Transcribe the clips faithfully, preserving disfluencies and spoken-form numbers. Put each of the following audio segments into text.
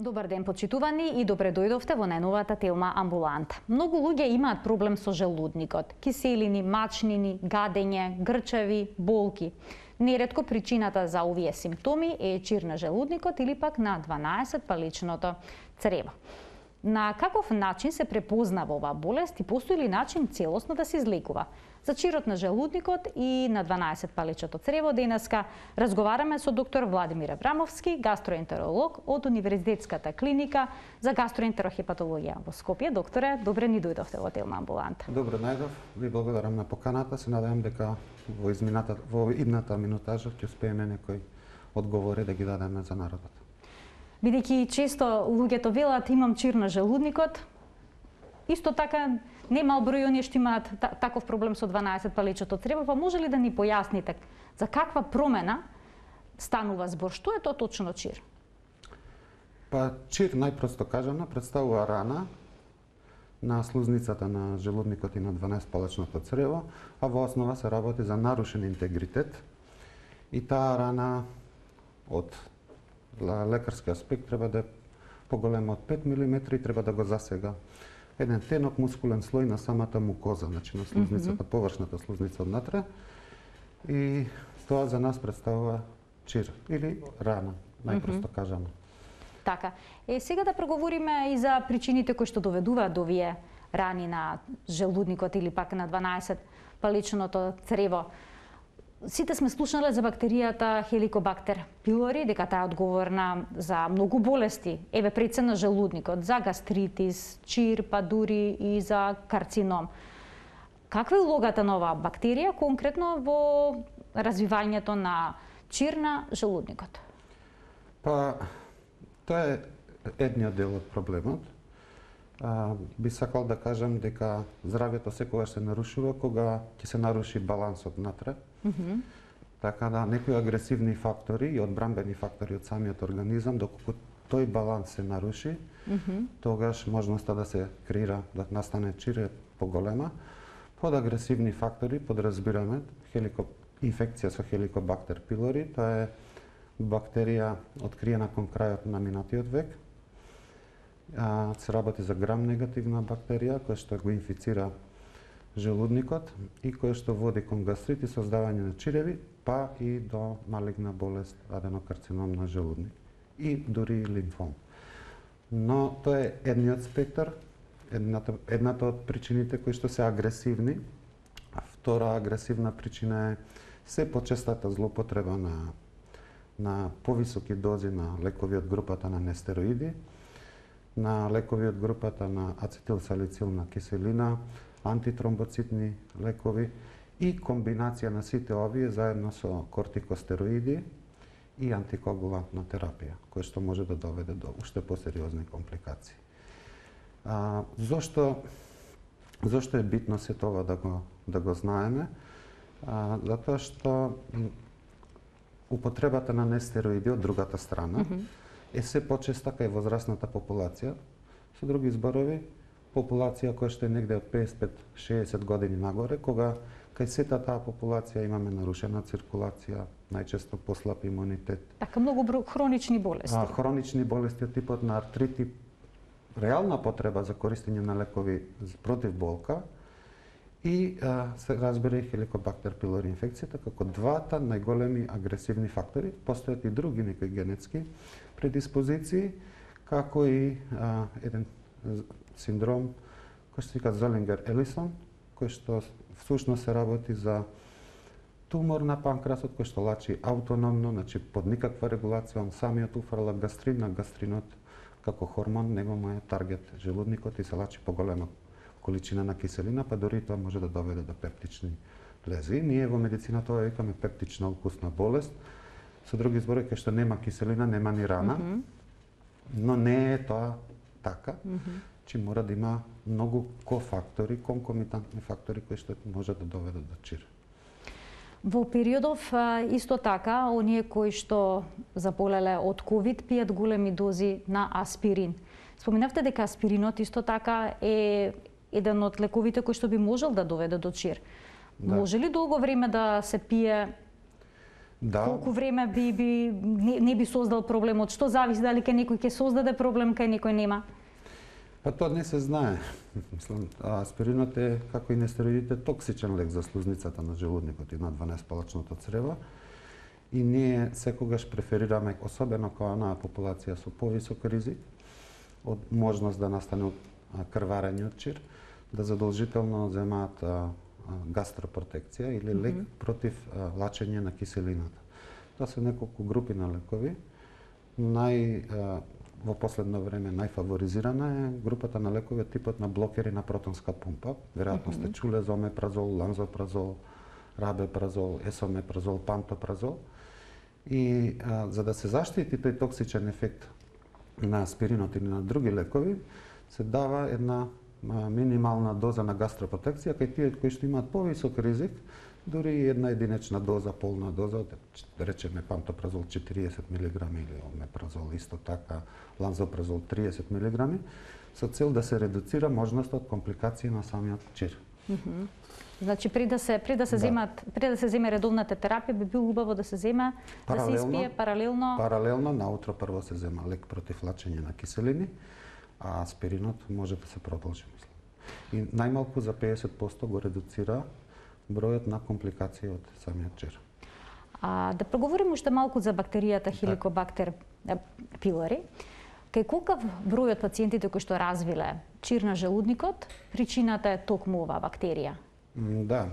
Добар ден, почитувани, и добре дојдовте во најновата Телма амбуланта. Многу луѓе имаат проблем со желудникот. Киселини, мачнини, гадење, грчеви, болки. Неретко причината за овие симптоми е чир на желудникот или пак на дванаесет паличното црево. На каков начин се препознава оваа болест и постои ли начин целосно да се излекува? За чирот на желудникот и на дванаесет паличното црево денеска разговараме со доктор Владимир Аврамовски, гастроентеролог од Универзитетската клиника за гастроентерохепатологија во Скопје. Докторе, добре ни дојдовте во Телма амбуланта. Добре најдов, ви благодарам на поканата. Се надевам дека во измината во идната минутажа ќе успееме некои одговори да ги дадеме за народот. Бидејќи често луѓето велат имам чир на желудникот, исто така немал број оние што имаат таков проблем со дванаесет паличното црево, па може ли да ни појасните за каква промена станува збор? Што е тоа точно чир? Па чир, најпросто кажано, представува рана на слузницата на желудникот и на дванаесет паличното црево, а во основа се работи за нарушен интегритет и таа рана од лекарски аспект треба да е поголема од пет милиметри и треба да го засега еден тенок мускулен слој на самата мукоза, значи на слузницата, mm -hmm. површната слузница однатре. И тоа за нас представува чир или рана, најпросто mm -hmm. кажано. Така. Е, сега да проговориме и за причините кои што доведуваат до овие рани на желудникот или пак на дванаесет паличното црево. Сите сме слушнале за бактеријата Helicobacter pylori, дека таа е одговорна за многу болести, еве пред се на желудникот, за гастритис, чир, па дури и за карцином. Каква е улогата на оваа бактерија конкретно во развивањето на чир на желудникот? Па, тоа е едниот дел од проблемот. А, би сакал да кажам дека здравјето секогаш се нарушува кога ќе се наруши балансот внатре. Mm -hmm. Така да некои агресивни фактори и одбранбени фактори од самиот организам, доколку тој баланс се наруши, mm -hmm. тогаш можноста да се креира, да настане чир е поголема. Под агресивни фактори подразбираме хелико... инфекција со Helicobacter pylori, тоа е бактерија откриена кон крајот на минатиот век. А, се работи за грам-негативна бактерија која што го инфицира желудникот и која што води кон гастрит и создавање на чиреви, па и до малигна болест, аденокарцином на желудник и дури лимфом. Но тоа е едниот спектар, едната, едната од причините кои што се агресивни. А втора агресивна причина е се почестата злоупотреба на на повисоки дози на лекови од групата на нестероиди, на лекови од групата на ацетилсалицилна киселина, антитромбоцитни лекови и комбинација на сите овие заедно со кортикостероиди и антикоагулантна терапија, која што може да доведе до уште посериозни компликации. А, зошто зошто е битно се тоа да го да го знаеме? А, затоа што употребата на нестероиди од другата страна mm -hmm. е се почеста кај возрастната популација. Со други зборови, популација која што е негде од песет до шеесет години нагоре, кога кај сета таа популација имаме нарушена циркулација, најчесто послаб имунитет. Така многу хронични болести. А, хронични болести од типот на артрити, реална потреба за користење на лекови против болка и а, се разбира и Helicobacter pylori инфекцијата како двата најголеми агресивни фактори. Постојат и други некои генетски предиспозиции, како и а, еден синдром кој се вика Золингер-Елисон, кој што всушност се работи за тумор на панкреасот кој што лачи автономно, значи под никаква регулација, он самиот уфрла гастрин, на гастринот како хормон, него му е таргет желудникот и се лачи поголема количина на киселина, па дори тоа може да доведе до пептични лези. Ние во медицината тоа викаме пептична укусна болест. Со други зборови, кај што нема киселина, нема ни рана, mm -hmm. но не е тоа така, mm -hmm. че мора да има многу кофактори, конкомитантни фактори кои што може да доведат до чир. Во периодов исто така, оние кои што заболеле од ковид пијат големи дози на аспирин. Споменавте дека аспиринот исто така е еден од лековите кои што би можел да доведе до чир. Да. Може ли долго време да се пие Да. Колку време би, би не, не би создал проблемот? Што зависи дали кај некој ќе создаде проблем, кај некој нема? Па тоа не се знае. Мислам, аспиринот е, како и нестероидите, токсичен лек за слузницата на желудникот и на дванаесетпалачното црево. И ние секогаш преферираме, особено кога онаа популација со повисок ризик, од можност да настане крварење од чир, да задолжително земаат гастропротекција или лек mm -hmm. против а, лачење на киселината. Тоа се неколку групи на лекови. Нај, а, во последно време најфаворизирана е групата на лекови типот на блокери на протонска пумпа. Веројатно mm -hmm. сте чуле за омепразол, ланзопразол, рабепразол, есомепразол, пантопразол. И а, за да се заштити тој токсичен ефект на аспиринот или на други лекови, се дава една минимална доза на гастропротекција кај тие кои што имаат повисок ризик, дури и една единечна доза, полна доза, да речеме пантопразол четириесет милиграми или омепразол исто така, ланзопразол триесет милиграми, со цел да се редуцира можноста од компликации на самиот чир. Mm -hmm. Значи при да се при да се да. земат при да се земе редовната терапија би било убаво да се зема да се испие паралелно. Паралелно наутро прво се зема лек против лачење на киселини, а аспиринот може да се продолжи, мислам. И најмалку за педесет проценти го редуцира бројот на компликации од самиот чир. А да проговориме уште малку за бактеријата Helicobacter pylori. Кај колкав број од пациентите кои што развиле чир на желудникот, причината е токму оваа бактерија? Да.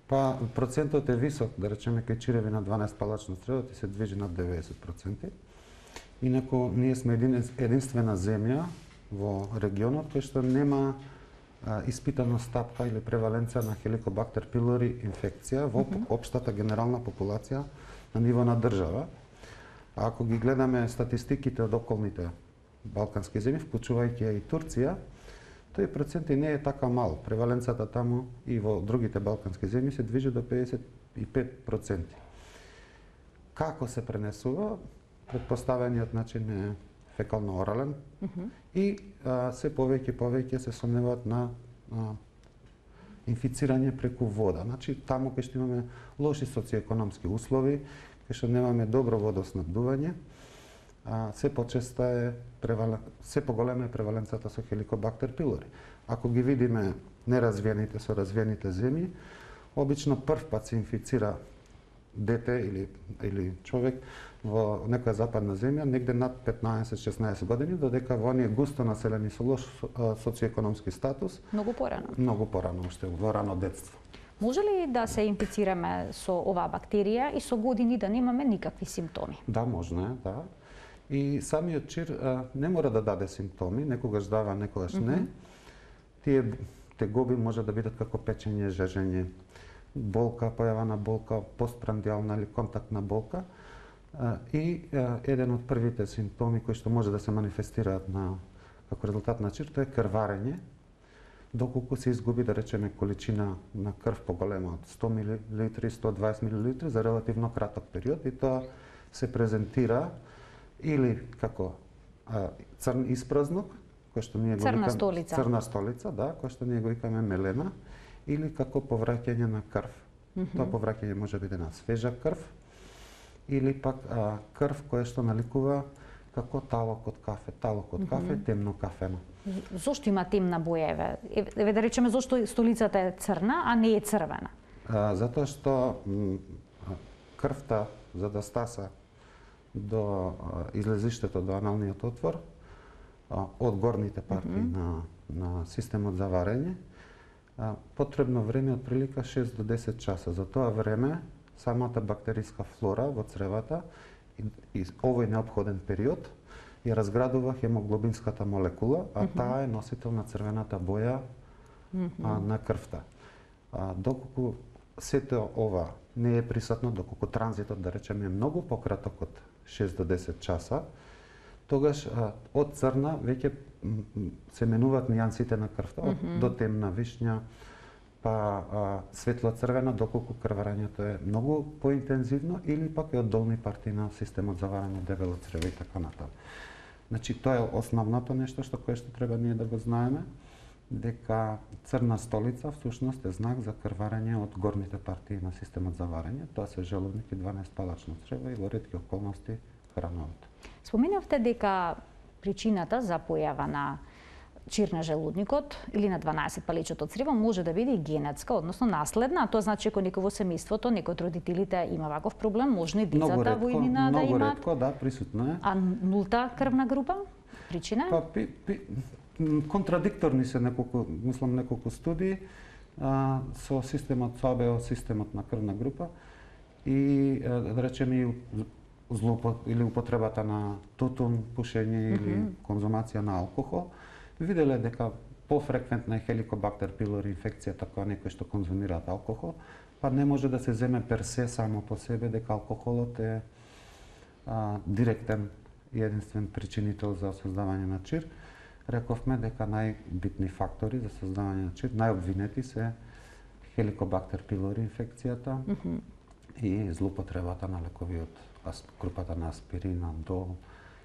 Па процентот е висок, да речеме кај чиреви на дванаесетпалачно црево се движи над деветдесет проценти. Инаку ние сме единствена земја во регионот кој што нема а, испитана стапка или преваленција на Helicobacter pylori инфекција во mm -hmm. општата генерална популација на ниво на држава. А ако ги гледаме статистиките од околните балкански земји, вклучувајќи и Турција, тој процент и не е така мал. Преваленцата таму и во другите балкански земји се движи до педесет и пет проценти. Како се пренесува? Предпоставениот начин е фекално-орален mm -hmm. и а, се повеќе повеќе се сомневаат на а, инфицирање преку вода. Значи таму кај што имаме лоши социоекономски услови, кај што немаме добро водоснабдување, а, се почеста е превален... се поголема е преваленцата со Helicobacter pylori. Ако ги видиме неразвиените со развиените земји, обично прв пат се инфицира дете или или човек во некоја западна земја негде над петнаесет-шеснаесет години, додека во оние густо населени со лош социоекономски статус многу порано. Многу порано, уште во рано детство. Може ли да се инфицираме со оваа бактерија и со години да немаме никакви симптоми? Да, можно е, да. И самиот чир а, не мора да даде симптоми, некогаш дава, некогаш не. Mm -hmm. Тие тегоби може да бидат како печење, жежење, болка, појава на болка, постпрандијална или контактна болка. А, и а, еден од првите симптоми кои што може да се манифестираат на како резултат на чир, тоа е крварење, доколку се изгуби, да речеме, количина на крв поголема од сто милилитри, сто дваесет милилитри за релативно краток период, и тоа се презентира или како а, црн испразнок, кој што ние го црна викаме столица. Црна столица, да, кој што ние го викаме мелена, или како повраќање на крв. Mm -hmm. Тоа повраќање може биде на свежа крв, или пак а, крв која што наликува како талок од кафе, талок од кафе, mm -hmm. темно кафено. Зошто има темна боја, еве? Еве да речеме зошто столицата е црна, а не е црвена? А, затоа што крвта за да стаса до а, излезиштето до аналниот отвор а, од горните партии mm -hmm. на на системот за варење, а, потребно време од прилика шест до десет часа. За тоа време самата бактериска флора во цревата и, и овој неопходен период ја разградува хемоглобинската молекула, а mm -hmm. таа е носител на црвената боја mm -hmm. а, на крвта. А, доколку сето ова не е присутно, доколку транзитот, да речеме, е многу пократок од шест до десет часа, тогаш а, од црна веќе се менуваат нијансите на крвта, од mm -hmm. до темна вишња, па а, светло црвена, доколку крварењето е многу поинтензивно, или пак е од долни партии на системот за варење, дебело црево и така натаму. Значи, тоа е основното нешто што кое што треба ние да го знаеме. дека црна столица всушност е знак за крварење од горните партии на системот за варење. Тоа се желудник и дванаесет палачно црево и во ретки околности храновите. Споменавте дека причината за појава на чир на желудникот или на дванаесет палечото црево може да биде и генетска, односно наследна. Тоа значи ако некој во семејството, некој од родителите има ваков проблем, може и децата во иднина да имаат. Многу ретко, да, присутно е. А нулта крвна група? Причина? Па, пи, пи, контрадикторни се неколку, мислам неколку студии а, со системот со А Б О, системот на крвна група и да речеме и злоупот или употребата на тутун, пушење или mm -hmm. конзумација на алкохол. Виделе дека пофреквентна е хеликобактер пилори инфекцијата кога некој што конзумираат алкохол, па не може да се земе персе само по себе дека алкохолот е а, директен и единствен причинител за создавање на чир. Рековме дека најбитни фактори за создавање на чир, најобвинети се хеликобактер пилори инфекцијата mm -hmm. и злоупотребата на лекови од групата на аспирин, дол,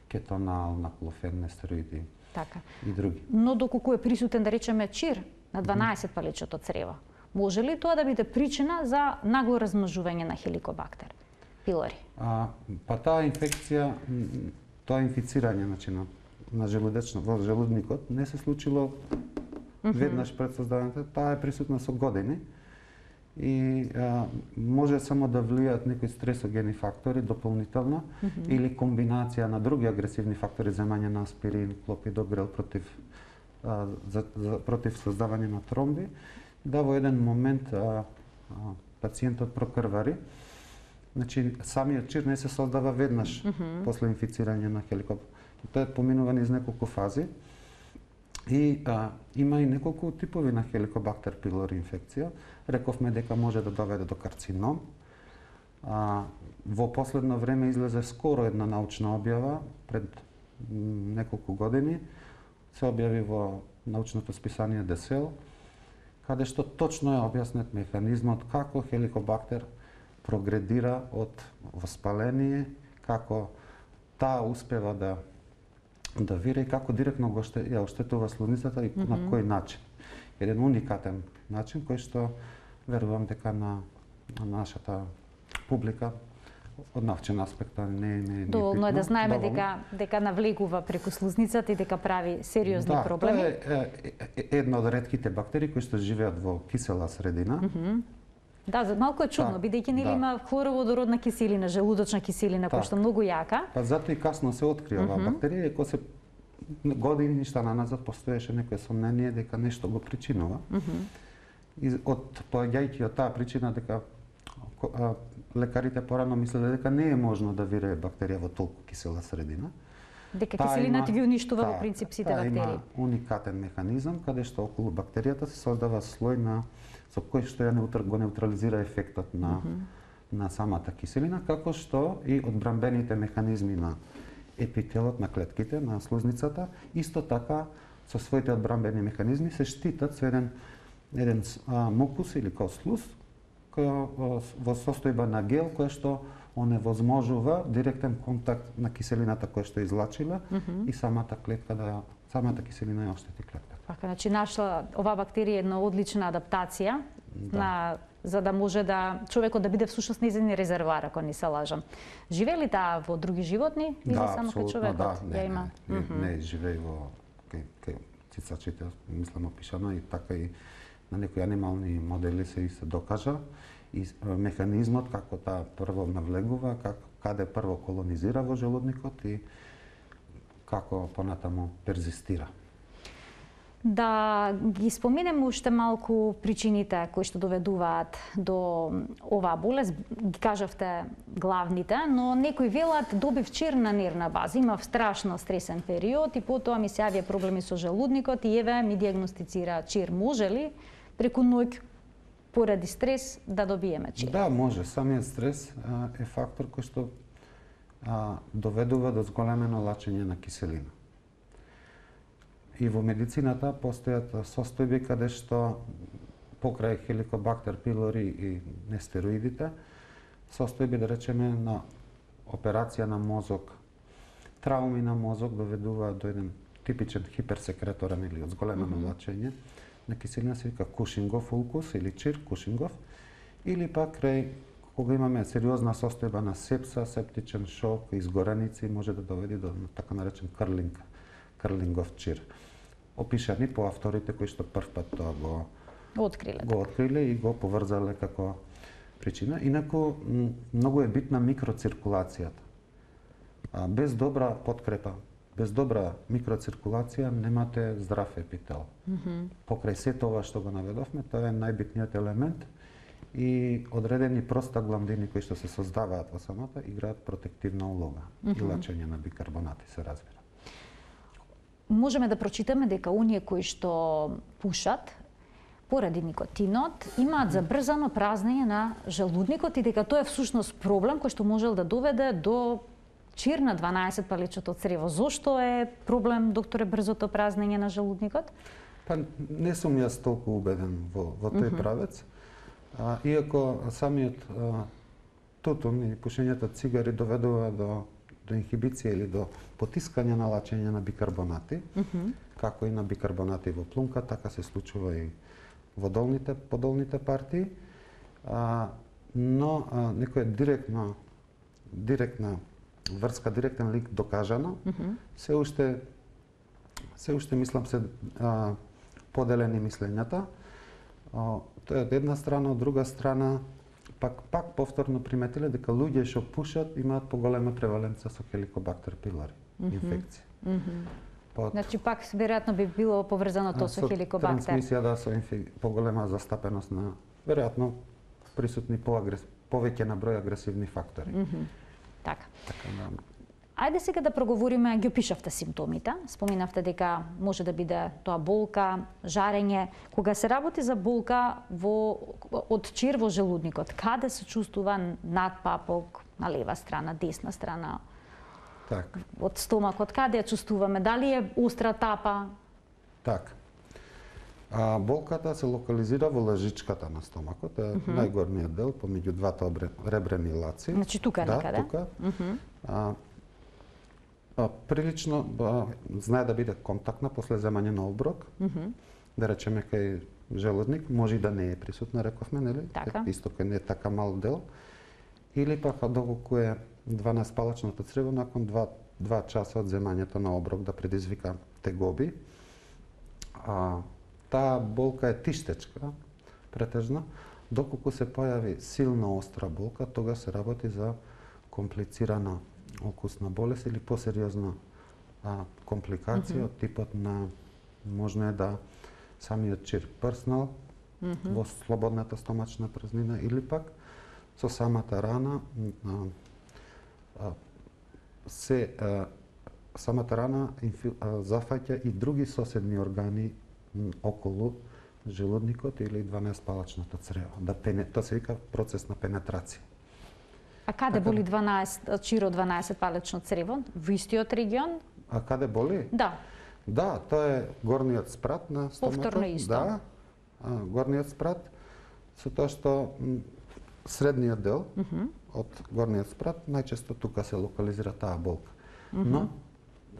кетонал, наклофен, нестероиди. Така. И други. Но доколку е присутен, да речеме, чир на дванаесет палечото црево, може ли тоа да биде причина за нагло размножување на хеликобактер пилори? А, па таа инфекција, тоа инфицирање значи, на, на желудечно, во желудникот не се случило mm -hmm. веднаш пред создавањето, таа е присутна со години и а, може само да влијаат некои стресогени фактори дополнително mm -hmm. или комбинација на други агресивни фактори, земање на аспирин, клопидогрел против а, за, за, против создавање на тромби, да во еден момент а, а, пациентот прокрвари. Значи самиот чир не се создава веднаш mm -hmm. после инфицирање на хеликобактер. Тоа е поминува низ неколку фази. И а, има и неколку типови на хеликобактер пилори инфекција. Рековме дека може да доведе до карцином. А, во последно време излезе скоро една научна објава, пред неколку години, се објави во научното списание The Cell, каде што точно е објаснет механизмот како хеликобактер прогредира од воспаление, како таа успева да да вира и како директно го ще, ја оштетува слузницата и mm -hmm. на кој начин. Еден уникатен начин кој што верувам дека на, на нашата публика од научен аспект не е не, доволно е да знаеме дека дека навлегува преку слузницата и дека прави сериозни да, проблеми. Да, тоа е, е, е една од ретките бактерии кои што живеат во кисела средина. Mm -hmm. Да, за малку е чудно, да, бидејќи нели да. има хлороводородна киселина, желудочна киселина, која што многу јака. Па затоа и касно се откри оваа mm -hmm. бактерија, иако се години ништа наназад постоеше некое сомнение дека нешто го причинува. Mm -hmm. И од поаѓајќи од таа причина дека а, лекарите порано мислеле дека не е можно да вирее бактерија во толку кисела средина. Дека киселината ги уништува во принцип сите бактерии. Има уникатен механизам каде што околу бактеријата се создава слој на со кој што ја неутр, го неутрализира ефектот на mm -hmm. на самата киселина, како што и одбрамбените механизми на епителот на клетките на слузницата, исто така со своите одбрамбени механизми се штитат со еден еден а, мукус или као слуз кој во состојба на гел кој што оневозможува директен контакт на киселината која што излачила mm -hmm. и самата клетка да самата киселина ја оштети клетката. Така, значи нашла оваа бактерија една одлична адаптација да. на за да може да човекот да биде всушност нејзин резервоар, ако не се лажам. Живее ли таа во други животни или да, само кај човекот? Да, не, ја има? Не, не, mm -hmm. не живее во кај, кај цицачите, мислам опишано и така и на некои анимални модели се и се докажа и механизмот како таа прво навлегува, како каде прво колонизира во желудникот и како понатаму перзистира. Да ги споменеме уште малку причините кои што доведуваат до оваа болест. Ги кажавте главните, но некои велат добив чир на нервна база, имав страшно стресен период и потоа ми се јавија проблеми со желудникот и еве ми диагностицира чир. Може ли преку ноќ поради стрес да добиеме чир? Да, може. Самиот стрес а, е фактор кој што а, доведува до зголемено лачење на киселина. И во медицината постојат состојби каде што покрај хеликобактер пилори и нестероидите, состојби да речеме на операција на мозок, трауми на мозок доведуваат до еден типичен хиперсекреторен или од зголемено Мгм. влачење на киселина се вика Кушингов улкус или чир Кушингов, или пак крај кога имаме сериозна состојба на сепса, септичен шок, изгореници, може да доведе до така наречен крлинг, крлингов чир. Опишани по авторите кои што прв пат тоа го Откриле. го откриле и го поврзале како причина. Инаку м, многу е битна микроциркулацијата. А, без добра подкрепа, без добра микроциркулација немате здрав епител. Мгм. Покрај се тоа што го наведовме, тоа е најбитниот елемент и одредени простагландини кои што се создаваат во самата играат протективна улога и Мгм. лачење на бикарбонати се разбира. Можеме да прочитаме дека оние кои што пушат поради никотинот имаат забрзано празнење на желудникот и дека тоа е всушност проблем кој што можел да доведе до чир на дванаесет палечното црево. Зошто е проблем, докторе, брзото празнење на желудникот? Па не сум јас толку убеден во, во тој Мгм. правец. А, иако самиот а, тутун и пушењето цигари доведува до, до инхибиција или до потискање на лачење на бикарбонати, Мгм. како и на бикарбонати во плунка, така се случува и во долните, подолните партии. А, но а, некоја директна, директна врска, директен лик докажано, Мгм. се уште се уште мислам се а, поделени мислењата. А, тоа е од една страна, од друга страна пак пак повторно приметиле дека луѓе што пушат имаат поголема преваленца со Helicobacter pylori Мгм. инфекција. Мгм. Под Значи пак веројатно би било поврзано тоа со хеликобактер. трансмисија да со инфи... поголема застапеност на веројатно присутни поагрес... повеќе на број агресивни фактори. Мгм. Така. Така да Ајде сега да проговориме, ги опишавте симптомите. Споминавте дека може да биде тоа болка, жарење. Кога се работи за болка во од чир во желудникот, каде се чувствува надпапок, на лева страна, десна страна, така. од стомакот, каде ја чувствуваме? Дали е остра тапа? Така. А, болката се локализира во лажичката на стомакот, е најгорниот дел помеѓу двата обре- ребрени лаци. Значи тука да, некаде? тука. Мгм. А, а, прилично а, знае да биде контактна после земање на оброк, Мгм. да речеме кај желудник, може и да не е присутна, рековме, нели? Така. Исто кај не е така мал дел. Или пак доколку е дванаесетпалачното црево након два, два часа од земањето на оброк да предизвика тегоби. А, таа болка е тиштечка, претежно, доколку се појави силна остра болка, тога се работи за комплицирана окусна болест или посериозна а, компликација од типот на можно е да самиот чир прснал Мгм. во слободната стомачна празнина или пак со самата рана а, а, се а, самата рана инфи, а, зафаќа и други соседни органи м, околу желудникот или дванаесетпалачното црево. Да пене, тоа се вика процес на пенетрација. А каде Така боли да. дванаесет чиро дванаесет палечно црево? Во истиот регион? А каде боли? Да. Да, тоа е горниот спрат на стомакот. Повторно исто. Да, а, горниот спрат, со тоа што м, средниот дел Мгм. од горниот спрат, најчесто тука се локализира таа болка. Но,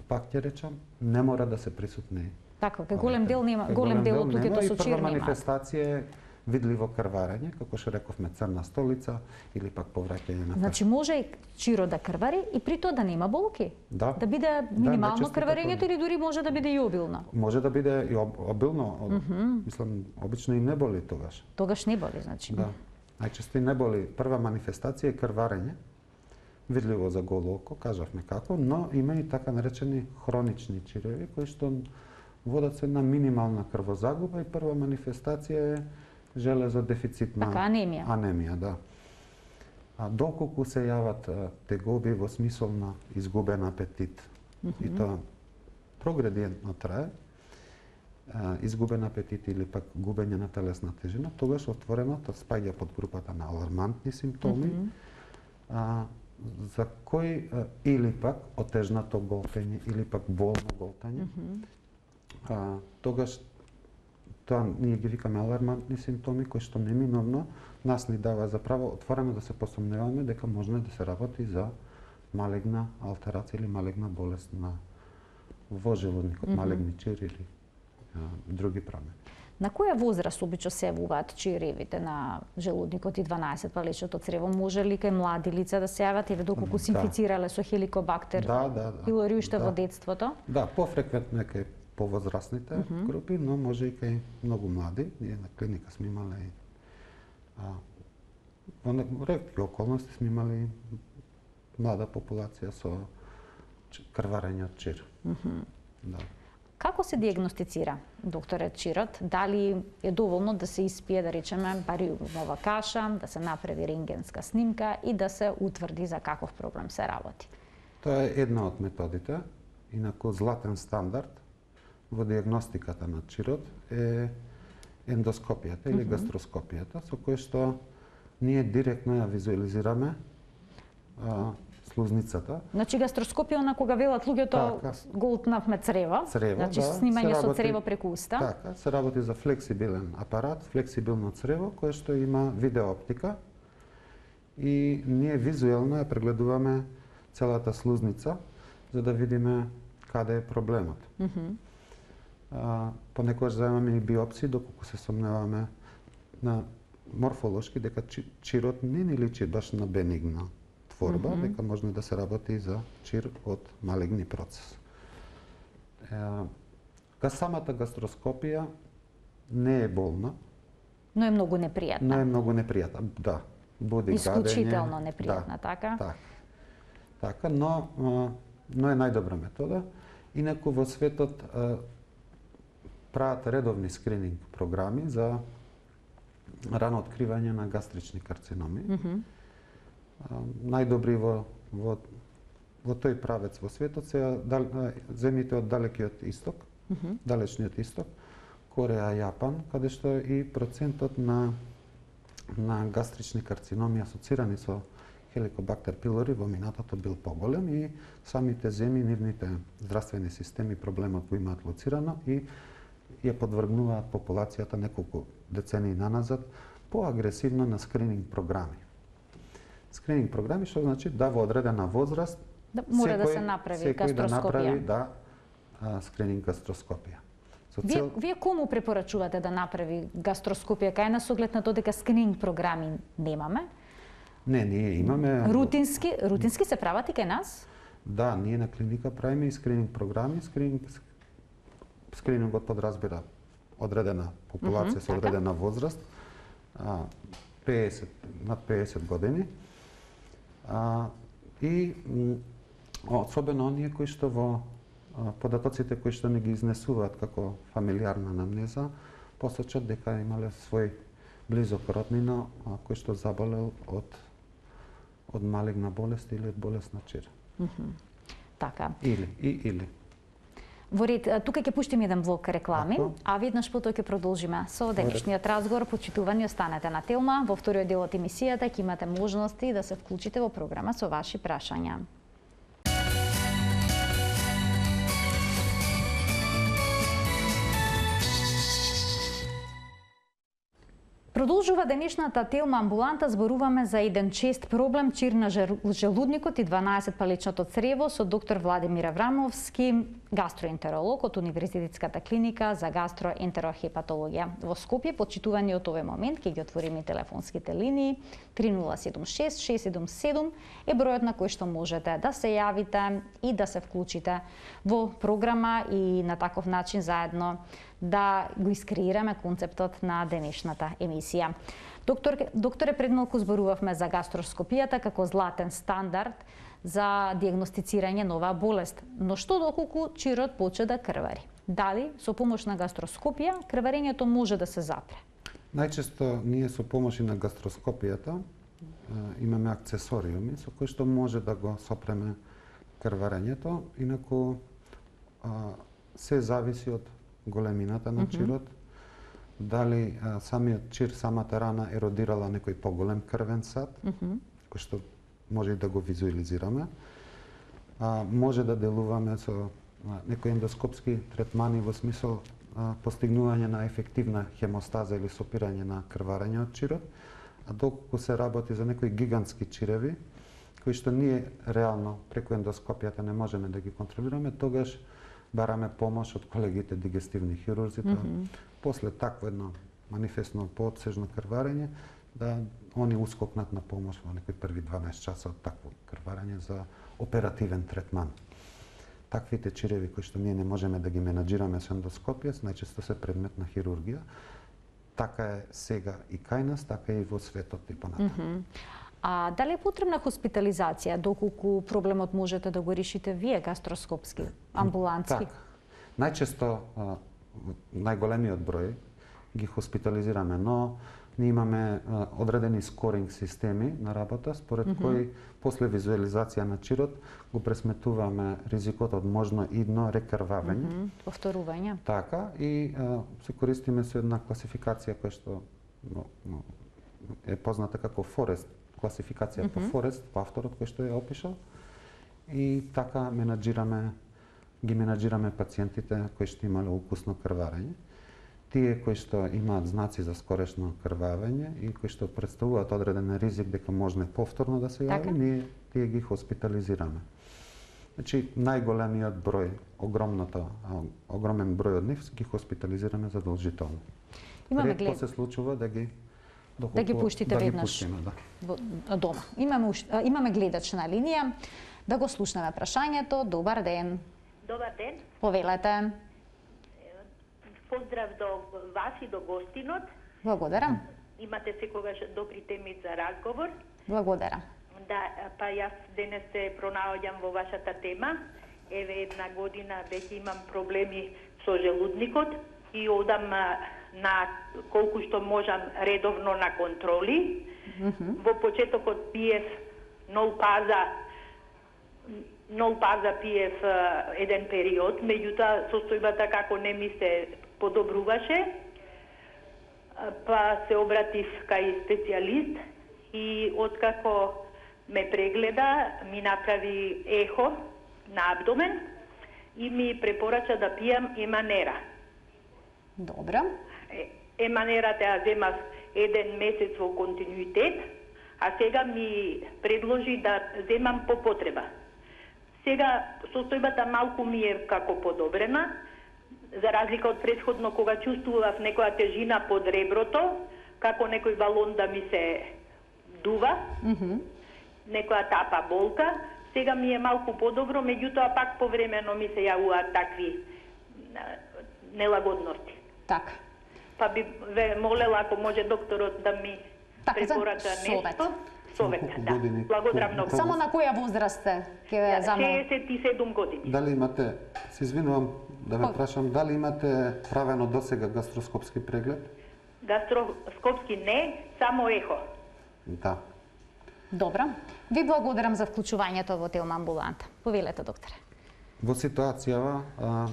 пак ќе речам, не мора да се присутни. Така, кај голем дел нема, Кај голем дел од нема луѓето и со чир прва нема. манифестација е видливо крварење, како што рековме црна столица или пак повраќање на Значи може и чиро да крвари и при тоа да нема болки. Да. Да биде минимално најчесто крварењето така. или дури може да биде и обилно. Може да биде и об, обилно, об, мислам, обично и не боли тогаш. Тогаш не боли, значи. Да. Најчесто и не боли. Прва манифестација е крварење, видливо за голо око, кажавме како, но има и така наречени хронични чиреви кои што водат се на минимална крвозагуба и прва манифестација е железодефицитна Така, анемија. анемија, да. А доколку се јават а, тегоби во смисол на изгубен апетит, и тоа прогредиентно трае, а, изгубен апетит или пак губење на телесна тежина, тогаш отворено тоа спаѓа под групата на алармантни симптоми, а, за кои а, или пак отежнато голтање или пак болно голтање. А, тогаш тоа ние ги викаме алармантни симптоми кои што неминовно нас ни дава за право отворено да се посомневаме дека може да се работи за малегна алтерација или малегна болест на во желудникот, Мгм. малегни чири или а, други промени. На која возраст обично се јавуваат чиревите на желудникот и дванаесет палечното црево? Може ли кај млади лица да се јават или доколку се Да. инфицирале со хеликобактер Да, да, да. пилори уште Да. во детството? Да, пофреквентно е кај повозрастните Мгм. групи, но може и кај многу млади. Ние на клиника сме имале а, во не- ретки околности сме имали млада популација со ч- крварење од чир. Мгм. Да. Како се диагностицира, докторе, чирот? Дали е доволно да се испие, да речеме, бариумова каша, да се направи рентгенска снимка и да се утврди за каков проблем се работи? Тоа е една од методите. Инаку златен стандард во диагностиката на чирот е ендоскопијата или Мгм. гастроскопијата, со кој што ние директно ја визуализираме а, слузницата. Значи гастроскопија на кога велат луѓето Така. го утнавме црево, Црево, значи да, снимање се со работи- црево преку уста. Така, се работи за флексибилен апарат, флексибилно црево, кое што има видеооптика и ние визуелно ја прегледуваме целата слузница за да видиме каде е проблемот. Мгм. А, понекогаш земаме и биопсии доколку се сомневаме на морфолошки дека чи- чирот не ни личи баш на бенигна творба, Мгм. дека може да се работи и за чир од малегни процес. Е, ка самата гастроскопија не е болна, Но е многу непријатна. но е многу непријатна. Да, буди Исклучително гадење. непријатна, Да, така? така. Така, но а, но е најдобра метода. Инаку во светот а, прават редовни скрининг програми за рано откривање на гастрични карциноми. Мгм. А, најдобри во, во, во тој правец во светот се дал, а, земјите од далекиот исток, Мгм. далечниот исток, Кореја, Јапан, каде што и процентот на на гастрични карциноми асоцирани со хеликобактер пилори во минатото бил поголем и самите земји, нивните здравствени системи проблемот го имаат лоцирано и ја подвргнуваат популацијата неколку децении наназад поагресивно на скрининг програми. Скрининг програми што значи да во одредена возраст Да, мора да секој- се направи секој да направи гастроскопија. да а, скрининг гастроскопија. Со Вие, цел вие кому препорачувате да направи гастроскопија, кај нас оглед на тоа дека скрининг програми немаме? не, ние имаме Рутински, рутински се прават и кај нас? Да, ние на клиника правиме и скрининг програми. Скрининг, скринингот подразбира одредена популација Мгм, со така. одредена возраст, а, пеесет, над пеесет години. А, и м, особено оние кои што во а, податоците кои што не ги изнесуваат како фамилиарна анамнеза, посочат дека имале свој близок роднина а, кој што заболел од од малегна болест или од болест на чир. Мгм. Така. Или, и, или. Во ред, а, тука ќе пуштиме еден блок реклами, Ако. а веднаш потоа ќе продолжиме со денешниот разговор. Почитувани, останете на Телма. Во вториот дел од емисијата ќе имате можности да се вклучите во програма со ваши прашања. Продолжува денешната Телма амбуланта, зборуваме за еден чест проблем, чир на жел- желудникот и дванаесет палечното црево со доктор Владимир Аврамовски, гастроентеролог од Универзитетската клиника за гастроентерохепатологија. Во Скопје, почитувани од овој момент, ќе ги отвориме телефонските линии. три нула седум шест шест седум седум е бројот на кој што можете да се јавите и да се вклучите во програма и на таков начин заедно да го искреираме концептот на денешната емисија. Доктор, докторе, пред малку зборувавме за гастроскопијата како златен стандард за диагностицирање на оваа болест. Но што доколку чирот почне да крвари? Дали со помош на гастроскопија крварењето може да се запре? Најчесто ние со помош и на гастроскопијата а, имаме акцесориуми со кои што може да го сопреме крварењето, инаку а, се зависи од големината на чирот, дали а, самиот чир, самата рана еродирала некој поголем крвен сад, Мгм. кој што може и да го визуализираме. А, може да делуваме со а, некои ендоскопски третмани во смисол а, постигнување на ефективна хемостаза или сопирање на крварење од чирот, а доколку се работи за некои гигантски чиреви, кои што ние реално преку ендоскопијата не можеме да ги контролираме, тогаш бараме помош од колегите дигестивни хирурзи, да, Мгм. после такво едно манифестно поотсежно крварење, да они ускокнат на помош во некои први дванаесет часа од такво крварење за оперативен третман. Таквите чиреви кои што ние не можеме да ги менаџираме со ендоскопија, најчесто се предмет на хирургија. Така е сега и кај нас, така е и во светот и понатаму. Мгм. А дали е потребна хоспитализација доколку проблемот можете да го решите вие гастроскопски, амбулантски? Така. Најчесто а, најголемиот број ги хоспитализираме, но ние имаме а, одредени скоринг системи на работа, според Мгм. кои после визуализација на чирот го пресметуваме ризикот од можно идно рекрвавење. Мгм. Повторување. Така, и а, се користиме со една класификација која што но, но, е позната како Форест, класификација по Мгм. Форест, по авторот кој што ја опишал. И така менаџираме, ги менаџираме пациентите кои што имале укусно крварење. Тие кои што имаат знаци за скорешно крвавење и кои што представуваат одреден ризик дека може повторно да се јави, Така. ние тие ги хоспитализираме. Значи, најголемиот број, огромната, а, огромен број од нив ги хоспитализираме задолжително. Имаме Ретко глед се случува да ги доколку, Да ги пуштите да ги веднаш. пуштиме, да. во- дома. Имаме уш- а, имаме гледач на линија. Да го слушнеме прашањето. Добар ден. Добар ден. Повелете. Поздрав до вас и до гостинот. Благодарам. Имате секогаш добри теми за разговор. Благодарам. Да, па јас денес се пронаоѓам во вашата тема. Еве една година веќе имам проблеми со желудникот и одам а, на колку што можам редовно на контроли. Мгм. Во почетокот пиев нол паза нол паза пиев а, еден период, меѓутоа состојбата како не ми се подобруваше, а, па се обратив кај специјалист и откако ме прегледа, ми направи ехо на абдомен и ми препорача да пијам еманера. Добро. Е, Еманерата ја земав еден месец во континуитет, а сега ми предложи да земам по потреба. Сега состојбата малку ми е како подобрена, за разлика од претходно кога чувствував некоја тежина под реброто, како некој балон да ми се дува, Мгм. некоја тапа болка. Сега ми е малку подобро, меѓутоа пак повремено ми се јавуваат такви а, нелагодности. Така. Па би ве молела ако може докторот да ми Така, за препорача совет. нешто. Совет, Колку да. години? Благодарам Колку- многу. колку- Само на која возраст сте? Ќе ве замолам. шеесет и седум години. Дали имате, се извинувам да ме Ой. прашам, дали имате правено досега гастроскопски преглед? Гастроскопски не, само ехо. Да. Добро. Ви благодарам за вклучувањето во Телма амбуланта. Повелете, докторе. Во ситуацијава а,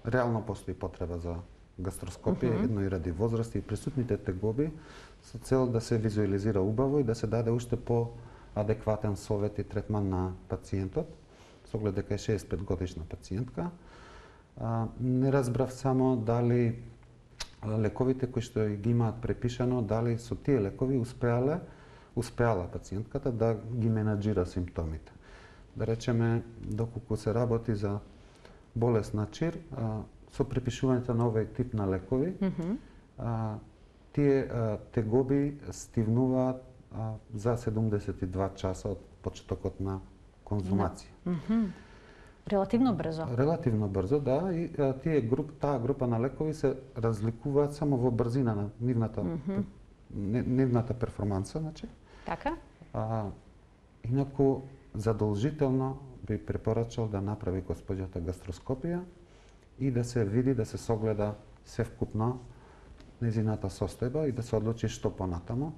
реално постои потреба за гастроскопија, Мгм. едно и ради возраст и присутните тегоби, со цел да се визуализира убаво и да се даде уште по-адекватен совет и третман на пациентот, со оглед дека е шеесет и пет годишна пациентка. А, не разбрав само дали а, лековите кои што ги имаат препишано, дали со тие лекови успеале, успеала пациентката да ги менаџира симптомите. Да речеме, доколку се работи за болест на чир, а, со препишувањето на овој тип на лекови, Мгм. а, тие а, тегоби стивнуваат а, за седумдесет и два часа од почетокот на конзумација. Мгм. Релативно брзо. Релативно брзо, да, и а, тие груп, таа група на лекови се разликуваат само во брзина на нивната Мгм. не- нивната перформанса, значи. Така? А, инаку задолжително би препорачал да направи госпоѓата гастроскопија и да се види, да се согледа севкупно незината состојба и да се одлучи што понатаму.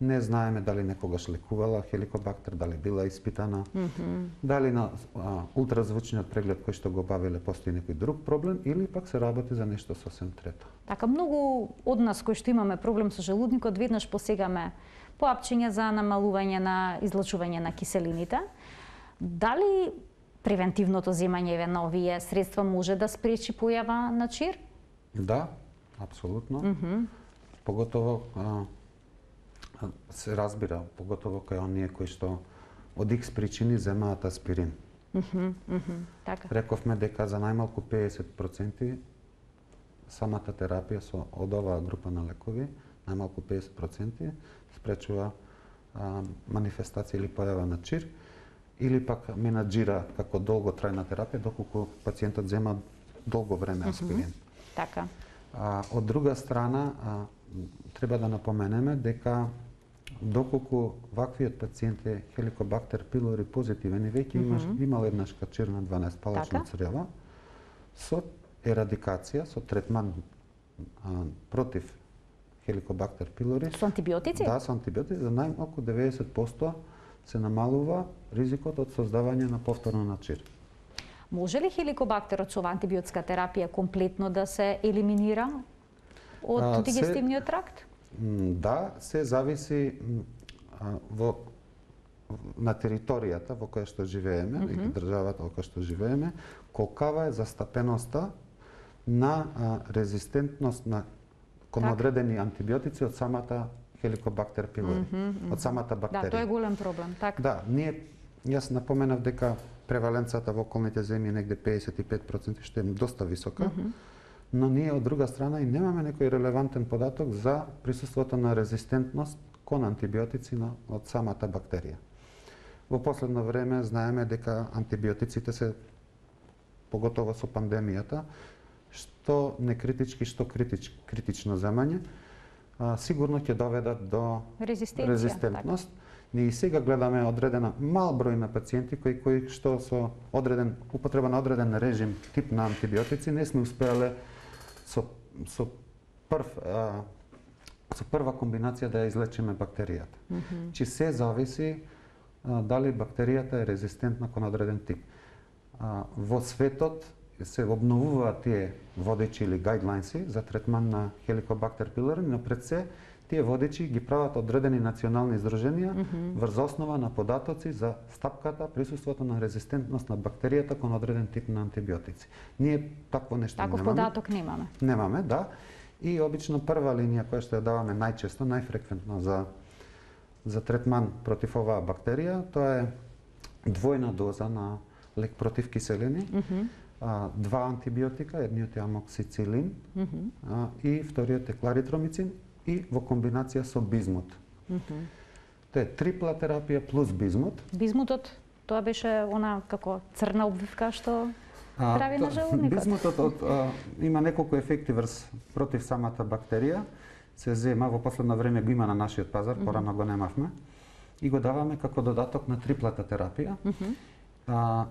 Не знаеме дали некогаш лекувала хеликобактер, дали била испитана, Мгм. дали на а, ултразвучниот преглед кој што го бавиле постои некој друг проблем или пак се работи за нешто сосем трето. Така, многу од нас кои што имаме проблем со желудникот, веднаш посегаме по апчиња за намалување на излачување на киселините. Дали превентивното земање еве на овие средства може да спречи појава на чир? Да, апсолутно. Мгм. Поготово а, а, се разбира, поготово кај оние кои што од икс причини земаат аспирин. Мхм, мхм, така. Рековме дека за најмалку педесет проценти самата терапија со од оваа група на лекови, најмалку педесет проценти спречува а, манифестација или појава на чир, или пак менаџира како долготрајна терапија доколку пациентот зема долго време аспирин. Мхм, така. А, од друга страна, а, треба да напоменеме дека доколку ваквиот пациент е Helicobacter pylori позитивен и веќе имаш Мгм. имал еднаш качир на дванаесет палачна Така. црева, со ерадикација, со третман а, против Helicobacter pylori, Со антибиотици? да, со антибиотици, за најмалку деветдесет проценти се намалува ризикот од создавање на повторно на чир. Може ли хеликобактерот со антибиотска терапија комплетно да се елиминира од А, се- дигестивниот тракт? М, Да, се зависи м, а, во на територијата во која што живееме, Мгм. и државата во која што живееме, колкава е застапеноста на а, резистентност на кон Така. одредени антибиотици од самата Helicobacter pylori, Мгм, мгм. од самата бактерија. Да, тоа е голем проблем, така. Да, ние јас напоменав дека преваленцата во околните земји е негде педесет и пет проценти, што е доста висока. Мгм. Но ние од друга страна и немаме некој релевантен податок за присуството на резистентност кон антибиотици на, од самата бактерија. Во последно време знаеме дека антибиотиците се, поготово со пандемијата, што некритички, што критич, критично земање, а, сигурно ќе доведат до Резистенција. резистентност. Ние и сега гледаме одредена мал број на пациенти кои кои што со одреден употреба на одреден режим тип на антибиотици не сме успеале со со прв а, со прва комбинација да ја излечиме бактеријата. Мгм. Чи се зависи а, дали бактеријата е резистентна кон одреден тип. А, во светот се обновуваат тие водечи или гайдлайнси за третман на Helicobacter pylori, но пред се тие водечи ги прават одредени национални издруженија Мгм. врз основа на податоци за стапката, присуството на резистентност на бактеријата кон одреден тип на антибиотици. Ние такво нешто Таков немаме. податок немаме. Немаме, да. И обично прва линија која што ја даваме најчесто, најфреквентно за за третман против оваа бактерија, тоа е двојна доза на лек против киселини, Мгм. а, два антибиотика, едниот е амоксицилин, Мгм. а, и вториот е кларитромицин и во комбинација со бизмут. Мгм. Тоа е трипла терапија плюс бизмут. Бизмутот, тоа беше она како црна обвивка што А, прави на то- желудникот. Бизмутот од, а, има неколку ефекти врз против самата бактерија. Се зема во последно време го има на нашиот пазар, порано го немавме. И го даваме како додаток на триплата терапија. Мгм. А,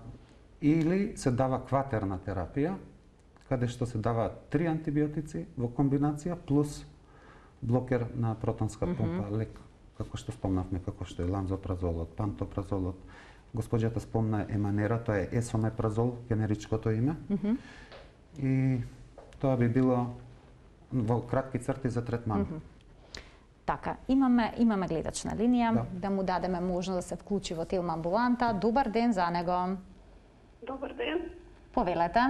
или се дава кватерна терапија, каде што се дава три антибиотици во комбинација плюс блокер на протонска помпа, лек, како што спомнавме, како што е ланзопразолот, пантопразолот. Госпоѓата спомна еманера, тоа е есомепразол, генеричкото име. Мгм. И тоа би било во кратки црти за третман. Мгм. Така, имаме имаме гледач на линија, Да. да му дадеме можност да се вклучи во Телма амбуланта. Добар ден за него. Добар ден. Повелете.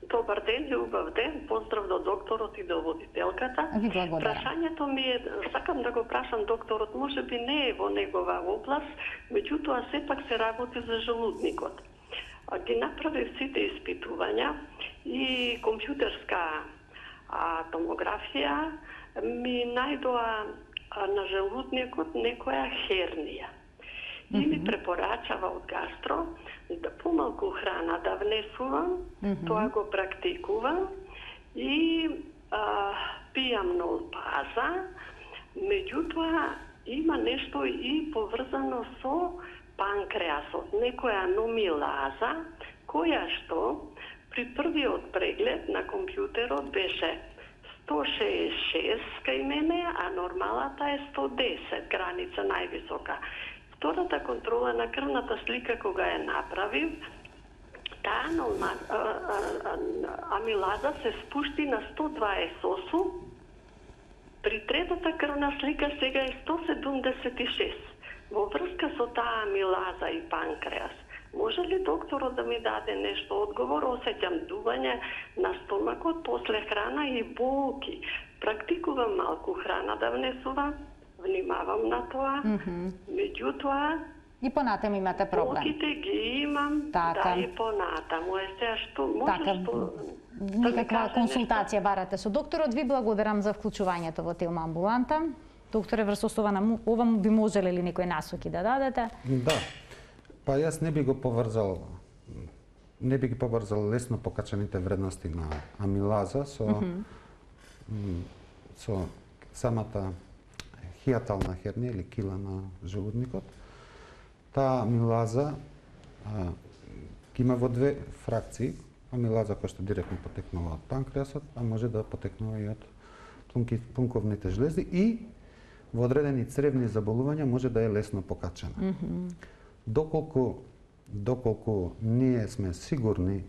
Добар ден и убав ден. Поздрав до докторот и до водителката. Ви благодарам. Прашањето ми е, сакам да го прашам докторот, може би не е во негова област, меѓутоа сепак се работи за желудникот. А, Ги направив сите испитувања и компјутерска а, томографија ми најдоа а, на желудникот некоја хернија. И ми препорачава од гастро да помалку храна да внесувам, Мгм. тоа го практикувам и а, пијам нолпаза, меѓутоа има нешто и поврзано со панкреасот, некоја номилаза, која што при првиот преглед на компјутерот беше сто шеесет и шест кај мене, а нормалата е сто десет, граница највисока. Втората контрола на крвната слика кога ја направив, таа норма- а, а, а, амилаза се спушти на сто дваесет и осум, при третата крвна слика сега е сто седумдесет и шест. Во врска со таа амилаза и панкреас, може ли докторот да ми даде нешто одговор? Осеќам дување на стомакот после храна и болки. Практикувам малку храна да внесувам, внимавам на тоа. Мгм. Меѓутоа, И понатаму имате проблем. Болките ги имам, така. да и понатаму. Е сега што може така. што Никаква консултација нешто барате со докторот. Ви благодарам за вклучувањето во Телма амбуланта. Докторе, врз основа на ова би можеле ли некои насоки да дадете? Да. Па јас не би го поврзал не би ги поврзал лесно покачените вредности на амилаза со mm -hmm. со самата хијатална хернија или кила на желудникот. Таа амилаза а, има во две фракции. Амилаза која што директно потекнува од панкреасот, а може да потекнува и од плунки, плунковните жлези и во одредени цревни заболувања може да е лесно покачена. Mm -hmm. Доколку доколку ние сме сигурни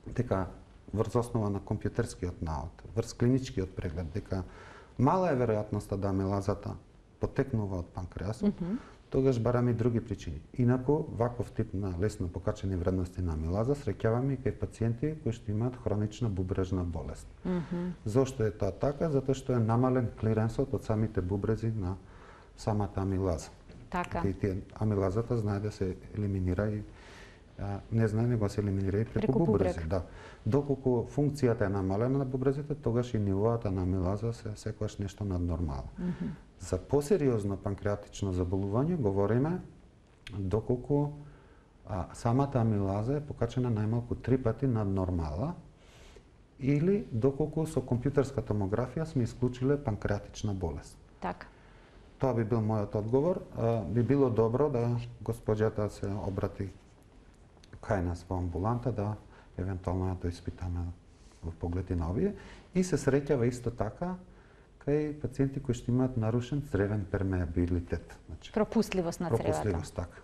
дека врз основа на компјутерскиот наод, врз клиничкиот преглед, дека мала е веројатноста да амилазата потекнува од панкреасот, mm -hmm. тогаш бараме и други причини. Инаку, ваков тип на лесно покачени вредности на амилаза среќаваме и кај пациенти кои што имаат хронична бубрежна болест. Mm -hmm. Зошто е тоа така? Затоа што е намален клиренсот од самите бубрези на самата амилаза. Така. И тие амилазата знае да се елиминира и а, не знае него се елиминира и преку, преку бубрези, да. Доколку функцијата е намалена на бубрезите, тогаш и нивоата на амилаза се секогаш нешто наднормално. Mm -hmm. За посериозно панкреатично заболување говориме доколку а, самата амилаза е покачена најмалку три пати над нормала или доколку со компјутерска томографија сме исклучиле панкреатична болест. Така. Тоа би бил мојот одговор. А, би било добро да госпоѓата се обрати кај нас во амбуланта, да евентуално ја да испитаме во погледи на овие. И се среќава исто така кај пациенти кои што имаат нарушен цревен пермеабилитет. Значи, пропустливост на цревата. Пропустливост, така.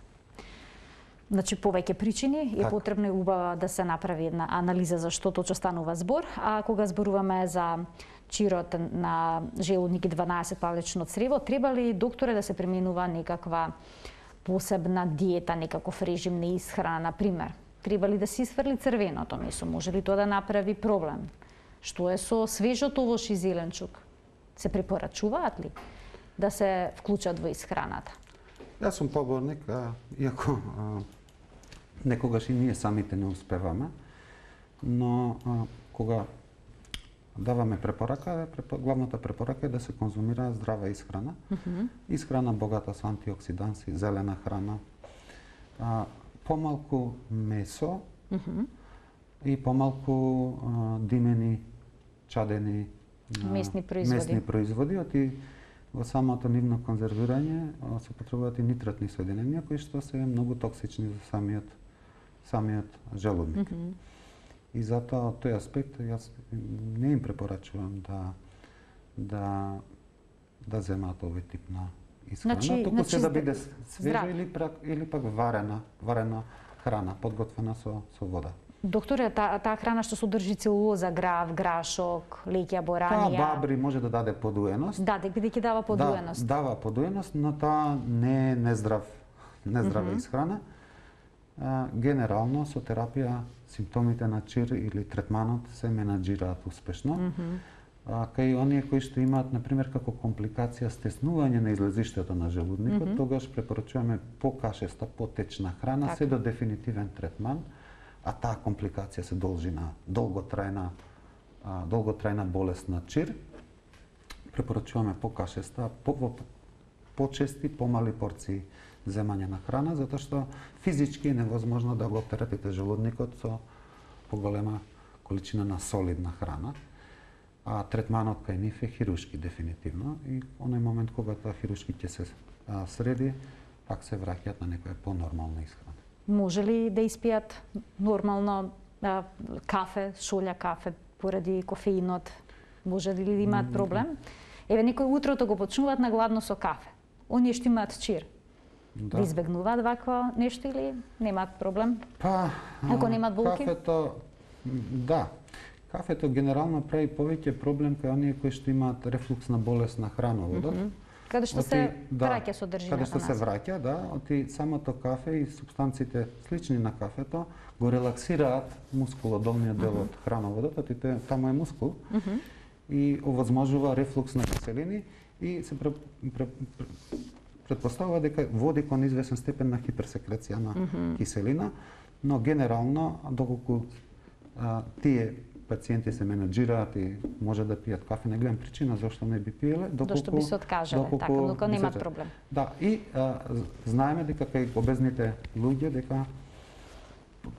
Значи, повеќе причини е так. Потребно и убава да се направи една анализа за што точно станува збор, а кога зборуваме за чирот на желудник и дванаесет палечно црево, треба ли, докторе, да се применува некаква посебна диета, некаков режим на исхрана, на пример? Треба ли да се исфрли црвеното месо? Може ли тоа да направи проблем? Што е со свежот овош и зеленчук? Се препорачуваат ли да се вклучат во исхраната? Јас сум поборник, а, иако а, некогаш и ние самите не успеваме, но а, кога даваме препорака, главната препорака е да се конзумира здрава исхрана. Mm -hmm. Исхрана богата со антиоксиданси, зелена храна, а, помалку месо mm -hmm. и помалку а, димени, чадени а, месни производи. Месни производи, оти во самото нивно конзервирање се потребуваат и нитратни соединенија кои што се многу токсични за самиот самиот желудник. Mm -hmm. И затоа од тој аспект јас не им препорачувам да да да земаат овој тип на исхрана, значи, туку значи, се да биде свежа или пак или пак варена, варена храна подготвена со со вода. Докторе, таа та храна што содржи целулоза, грав, грашок, леќа, боранија. Таа бабри може да даде подуеност. Да, дека ќе дава подуеност. Да, дава подуеност, но таа не е нездрав, нездрава mm -hmm. исхрана. А, генерално со терапија симптомите на чир или третманот се менаџираат успешно. Mm -hmm. А, кај оние кои што имаат, например, како компликација стеснување на излезиштето на желудникот, mm -hmm. тогаш препорачуваме покашеста, потечна храна, так. Се до дефинитивен третман, а таа компликација се должи на долготрајна, а, долготрајна болест на чир. Препорачуваме покашеста, по, по, почести, помали порции земање на храна, затоа што физички е невозможно да го оптеретите желудникот со поголема количина на солидна храна. А третманот кај нив е хирушки дефинитивно и оној момент кога тоа хирушки ќе се а, среди, пак се враќаат на некоја понормална исхрана. Може ли да испијат нормално а, кафе, шолја кафе поради кофеинот? Може ли да имаат проблем? Еве некои утрото го почнуваат на гладно со кафе. Оние што имаат чир, да, да избегнуваат вакво нешто или немаат проблем? Па, ако немаат болки? Кафето, да. Кафето генерално прави повеќе проблем кај оние кои што имаат рефлуксна болест на храноводот. Mm -hmm. Каде што оти, се да, враќа содржината. Каде што се враќа, да, оти самото кафе и супстанците слични на кафето го релаксираат мускулодолниот дел од mm -hmm. храноводот, оти таму е мускул. Mm -hmm. И овозможува рефлукс на киселини и се пре, пре, пре, претпоставува дека води кон извесен степен на хиперсекреција на mm -hmm. киселина, но генерално доколку а, тие пациенти се менаџираат и може да пијат кафе, не гледам причина зашто не би пиеле, доколку Зашто би се откажале, доколку, така, доколку немаат проблем. Да, и а, знаеме дека кај обезните луѓе дека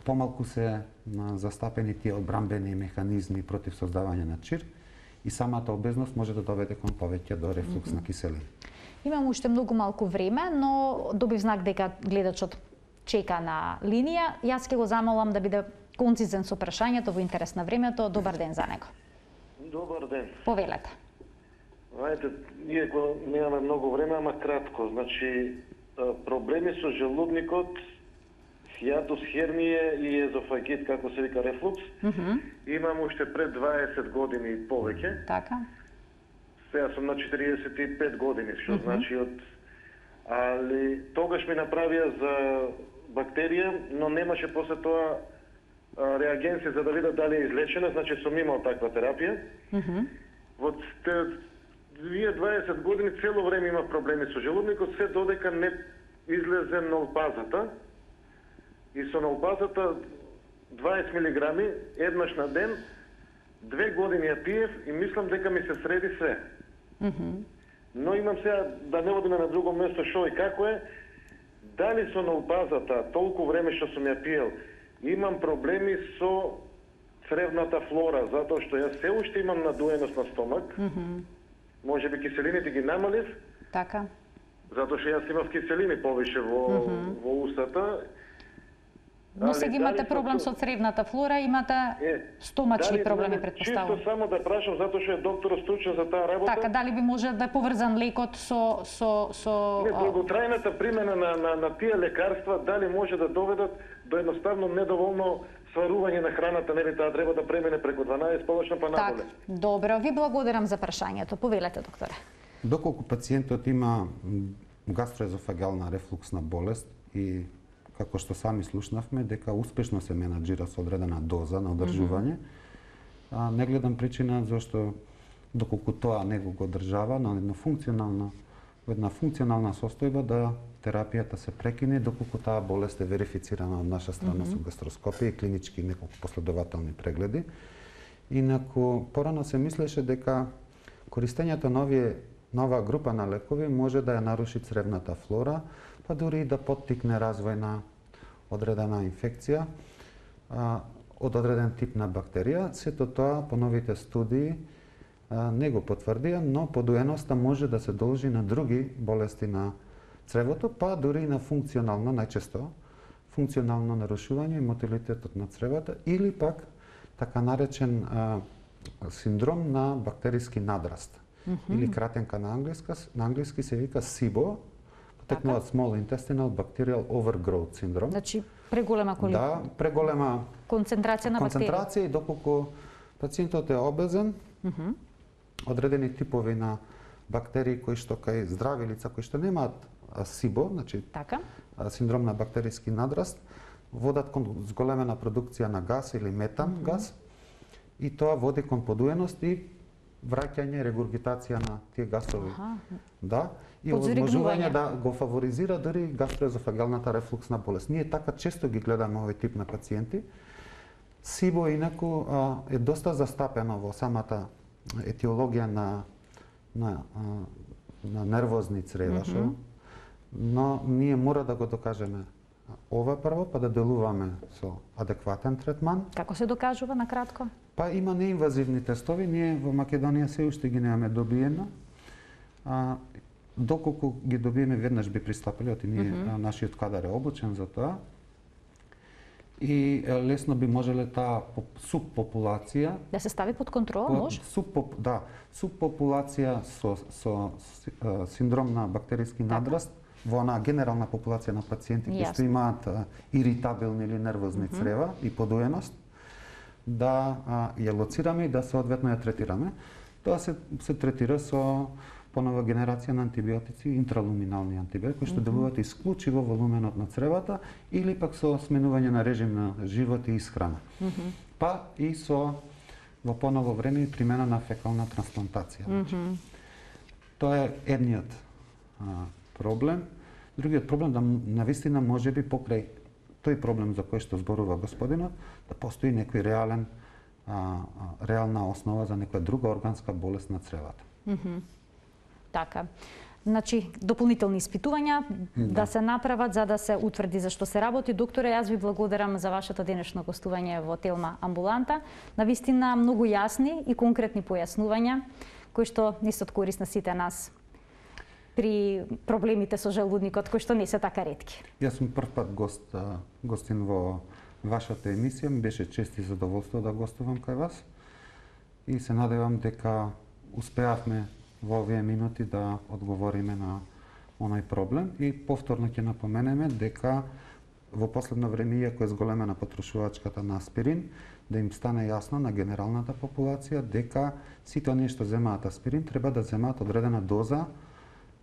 помалку се на застапени тие одбрамбени механизми против создавање на чир и самата обезност може да доведе кон повеќе до рефлукс mm -hmm. на киселина. Имам уште многу малку време, но добив знак дека гледачот чека на линија. Јас ќе го замолам да биде концизен со прашањето во интерес на времето. Добар ден за него. Добар ден. Повелете. Знаете, ние го немаме многу време, ама кратко. Значи, проблеми со желудникот, хиатус херније и езофагит, како се вика рефлукс, mm -hmm. имам уште пред дваесет години и повеќе. Така. Сега сум на четириесет и пет години, што mm -hmm. значи од... Али тогаш ми направија за бактерија, но немаше после тоа реагенци за да видат дали е излечена, значи сум имал таква терапија. Mm -hmm. Во две дваесет години цело време има проблеми со желудникот, се додека не излезе нолпазата. И со нолпазата дваесет милиграми еднаш на ден, две години ја пиев и мислам дека ми се среди се. Mm -hmm. Но имам сега да не одиме на друго место шо и како е, дали со нолпазата толку време што сум ја пиел, имам проблеми со цревната флора, затоа што јас се уште имам надуеност на стомак. Mm -hmm. Може би киселините ги намалив. Така. Затоа што јас имав киселини повише во, mm -hmm. во устата. Но сега имате проблем со цревната флора, имате е, стомачни проблеми, претпоставувам. Чисто само да прашам, затоа што е докторот стручен за таа работа. Така, дали би може да е поврзан лекот со... со, со не, долготрајната примена на, на, на тие лекарства, дали може да доведат до едноставно недоволно сварување на храната, нели таа треба да премине преку дванаесет полошно па надоле. Так, добро, ви благодарам за прашањето. Повелете, докторе. Доколку пациентот има гастроезофагална рефлуксна болест и како што сами слушнавме, дека успешно се менаџира со одредена доза на одржување. Mm -hmm. а, не гледам причина зашто доколку тоа него го одржава на една функционална, една функционална состојба да терапијата се прекине доколку таа болест е верифицирана од наша страна mm -hmm. со гастроскопија и клинички неколку последователни прегледи. Инаку порано се мислеше дека користењето на овие нова група на лекови може да ја наруши цревната флора, па дури и да поттикне развој на одредена инфекција а, од одреден тип на бактерија. Сето тоа по новите студии а, не го потврдија, но подуеноста може да се должи на други болести на цревото, па дури и на функционално, најчесто, функционално нарушување и мотилитетот на цревата или пак така наречен а, синдром на бактериски надраст. Mm -hmm. Или кратенка на англиска, на англиски се вика сибо, потекнуваат small intestinal bacterial overgrowth синдром. Значи преголема количество. Да, преголема концентрација на бактерии. Концентрација и доколку пациентот е обезен, mm -hmm. одредени типови на бактерии кои што кај здрави лица кои што немаат сибо, значи така, синдром на бактериски надраст, водат кон зголемена продукција на газ или метан mm -hmm. газ и тоа води кон подуеност и враќање, регургитација на тие газови. Аха. Да, и овозможување да го фаворизира дури гастроезофагалната рефлуксна болест. Ние така често ги гледаме овој тип на пациенти. Сибо инаку а, е доста застапено во самата етиологија на на а, на нервозни црева, mm -hmm. но ние мора да го докажеме ова прво, па да делуваме со адекватен третман. Како се докажува на кратко? Па има неинвазивни тестови, ние во Македонија се уште ги немаме добиено. А, доколку ги добиеме, веднаш би пристапиле, оти ние, mm -hmm. нашиот кадар е обучен за тоа. И лесно би можеле таа субпопулација да се стави под контрола, може? Субпоп, да, субпопулација со со синдром на бактериски надраст во онаа генерална популација на пациенти кои што имаат а, иритабилни или нервозни mm -hmm. црева и подуеност, да а, ја лоцираме и да соодветно ја третираме. Тоа се се третира со понова генерација на антибиотици, интралуминални антибиотици, кои што mm -hmm. делуваат исклучиво во луменот на цревата или пак со сменување на режим на живот и исхрана. Mm -hmm. Па и со во поново време примена на фекална трансплантација. Mm -hmm. Тоа е едниот а, проблем. Другиот проблем да навистина можеби покрај тој проблем за кој што зборува господинот, да постои некој реален а, а, реална основа за некоја друга органска болест на цревата. Mm -hmm. Така. Значи, дополнителни испитувања да. да се направат за да се утврди за што се работи. Докторе, јас ви благодарам за вашето денешно гостување во Телма амбуланта. Навистина многу јасни и конкретни појаснувања кои што не се од корист на сите нас при проблемите со желудникот, кои што не се така ретки. Јас сум прв пат гост, гостин во вашата емисија, ми беше чест и задоволство да гостувам кај вас и се надевам дека успеавме во овие минути да одговориме на оној проблем и повторно ќе напоменеме дека во последно време, иако е зголемена потрошувачката на аспирин, да им стане јасно на генералната популација дека сите оние што земаат аспирин треба да земаат одредена доза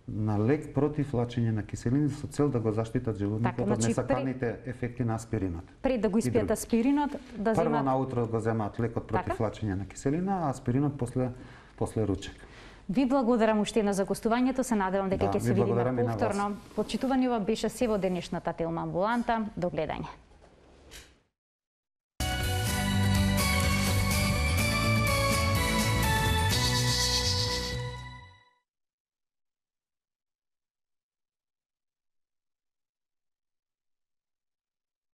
на лек против лачење на киселини со цел да го заштитат желудникот така, значи, од несаканите при... ефекти на аспиринот. Пред да го испијат аспиринот, да Прво земаат... наутро го земаат лекот против така? лачење на киселина, а аспиринот после после ручек. Ви благодарам уште една за гостувањето, се надевам дека ќе да, се видиме повторно. Почитувани ова беше се во денешната Телма амбуланта. До гледање.